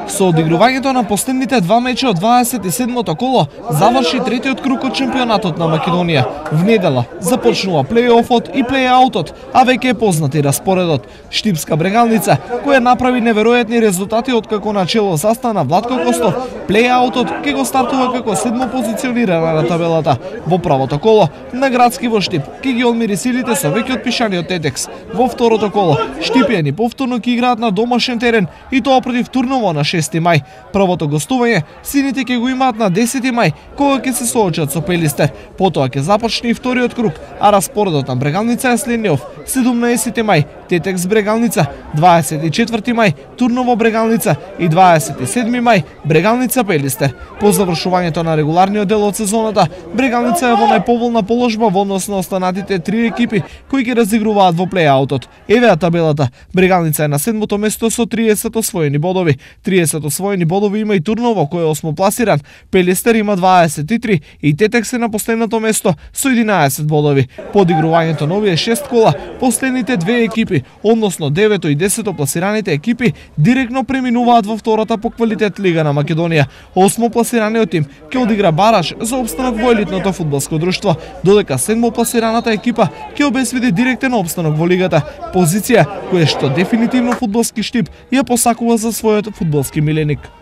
Со одигрувањето на последните два меча од 27-то коло заврши третиот круг од шампионатот на Македонија. В недела започнува плей-офот и плей-аутот, а веќе е познати распоредот. Штипска Брегалница, која направи неверојатни резултати откако начело застана Владко Костов, плей-аутот ќе го стартува како седмо позиционирана на табелата. Во правото коло на Градски во Штип ќе ги одмери силите со веќе отпишаниот Тетекс. Во второто коло Штипјани повторно ќе играат на домашен терен и тоа против Турново на 6 мај. Првото гостување сините ќе го имаат на 10 мај, кога ќе се соочат со Пелистер. Потоа ќе започне и вториот круг, а распоредот на Брегалница е следниот: 17 мај Тетекс Брегалница, 24 мај Турново Брегалница и 27 мај Брегалница Пелистер. По завршувањето на регуларниот дел од сезоната, Брегалница е во најповолна положба во однос на останатите три екипи кои ќе разигруваат во плей-аутот. Еве табелата. Брегалница е на 7-то место со 30 освоени бодови. 30 освоени бодови има и Турново, кој е 8 пласиран. Пелистер има 23 и Тетекс е на последното место со 11 бодови. По одигрувањето на овие 6 кола, последните две екипи, односно 9-то и 10-то пласираните екипи, директно преминуваат во втората по квалитет Лига на Македонија. 8 пласираниот тим ќе одигра бараж за опстанок во елитното фудбалско друштво, додека 7 пласираната екипа ќе обезбеди директен опстанок во лигата, позиција која што дефинитивно фудбалски Штип ја посакува за својот фудбалски миленик.